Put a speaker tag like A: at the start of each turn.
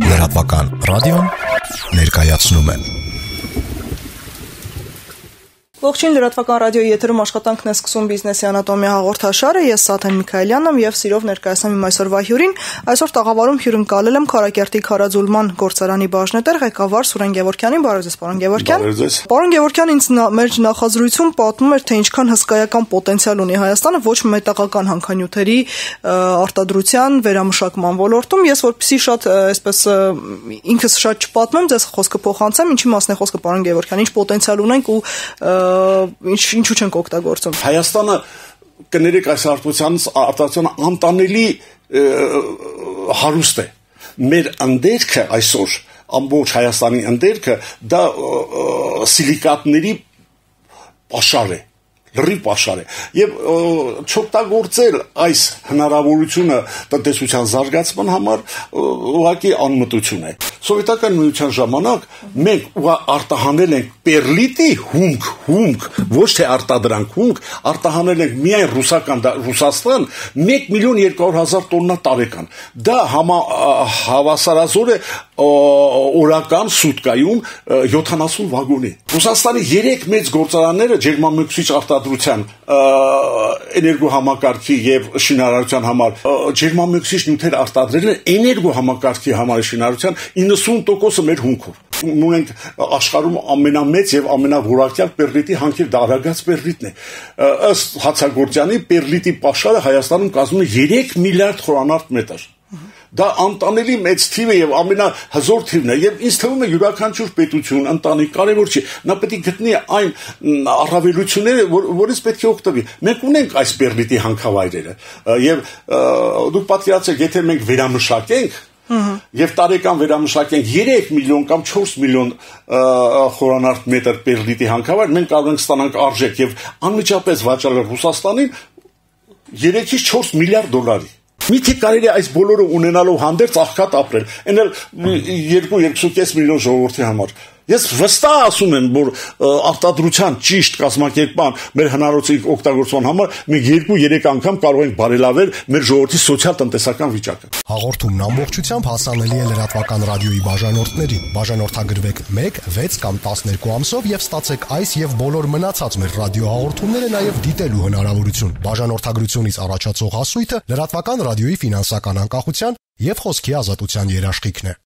A: Լրատվական ռադիոն ներկայացնում է։
B: Ողջույն, լրատվական ռադիոյի եթերում աշխատանքն է սկսում բիզնեսի անատոմիա հաղորդաշարը, ես Սաթեն Միքայելյանն եմ եւ սիրով ներկայացնում իմ այսօրվա հյուրին։ Այսօր տաղավարում հյուրընկալել եմ Քարակերտի Քարաձուլման գործարանի բաժնետեր ղեկավար Սուրեն Գևորգյանին։ Բարև ձեզ, պարոն Գևորգյան։ Պարոն Գևորգյան, ինձ մեր նախազրույցում պատմում էր, թե ինչքան հսկայական պոտենցիալ ունի Հայաստանը ոչ մետաղական հանքանյութերի արտադրության, վերամշակման ոլորտում։ Ես որպեսզի շատ այսպես ինքս շատ չպատմեմ, ձեզ խոսքը փոխանցեմ, ինչի մասն է խոսքը, պարոն Գևորգյան, ինչ պոտենցիալ ունենք ու ինչու չենք օգտագործում։
C: Հայաստանը կներեք այս արտադրության անտանելի հարուստ է։ Մեր ընդերքը այսօր ամբողջ Հայաստանի ընդերքը դա սիլիկատների պաշար է, լրիվ պաշար է, եւ չօգտագործել այս հնարավորությունը տնտեսության զարգացման համար ուղղակի անմտություն է։ Սովետական միության ժամանակ մենք արտահանել ենք պերլիտի հումք, ոչ թե արտադրանք հումք, արտահանել ենք միայն Ռուսաստան 1,200,000 տոննա տարեկան։ Դա հավասարազոր է օրական սուտկայում 70 վագոնի։ Ռուսաստանի 3 մեծ գործարանները ջերմամեկուսիչ արտադրության էներգոհամակարգի եւ շինարարության համար ջերմամեկուսիչ նյութեր արտադրել են էներգոհամակարգի համար շինարարության 90%-ը մեր հումքով։ Ունենք աշխարհում ամենամեծ եւ ամենավորակյալ պերլիտի հանքեր, դա Արագած պերլիտն է։ Ըստ Հացագործյանի պերլիտի պաշարը Հայաստանում կազմում է 3 միլիարդ խորանարդ մետր։ Դա անտանելի մեծ թիվ է եւ ամենահզոր թիվն է եւ ինձ թվում է յուրաքանչյուր պետություն, ընտանիք կարեւոր չի, նա պետք է գտնի այն առավելությունները, որից պետք է օգտվի։ Մենք ունենք այս պերլիտի հանքավայրերը եւ դուք պատկերացրեք, եթե մենք վերամշակենք եւ տարեկան վերամշակենք 3 միլիոն կամ 4 միլիոն խորանարդ մետր պերլիտի հանքավայր, մենք կարող ենք ստանանք արժեք եւ անմիջապես վաճառել Ռուսաստանին 3-ից 4 միլիարդ դոլարի։ Միթե կարելի է այս բոլորը ունենալով հանդերձ աղքատ ապրել, այն էլ 2-2.5 միլիոն ժողովրդի համար։ Ես վստահ ասում եմ, որ արտադրության ճիշտ կազմակերպման մեր հնարավորության օգտագործման համար մենք 2-3 անգամ կարող ենք բարելավել մեր ժողովրդի սոցիալ-տնտեսական վիճակը։
A: Հաղորդումն ամբողջությամբ հասանելի է լրատվական ռադիոյի բաժանորդներին։ Բաժանորդագրվեք 1, 6 կամ 12 ամսով եւ ստացեք այս եւ բոլոր մնացած մեր ռադիոհաղորդումները նաեւ դիտելու հնարավորություն։ Բաժանորդագրությունից առաջացող հասույթը լրատվական ռադիոյի ֆինանսական անկախության եւ խոսքի ազատության երաշխիքն է։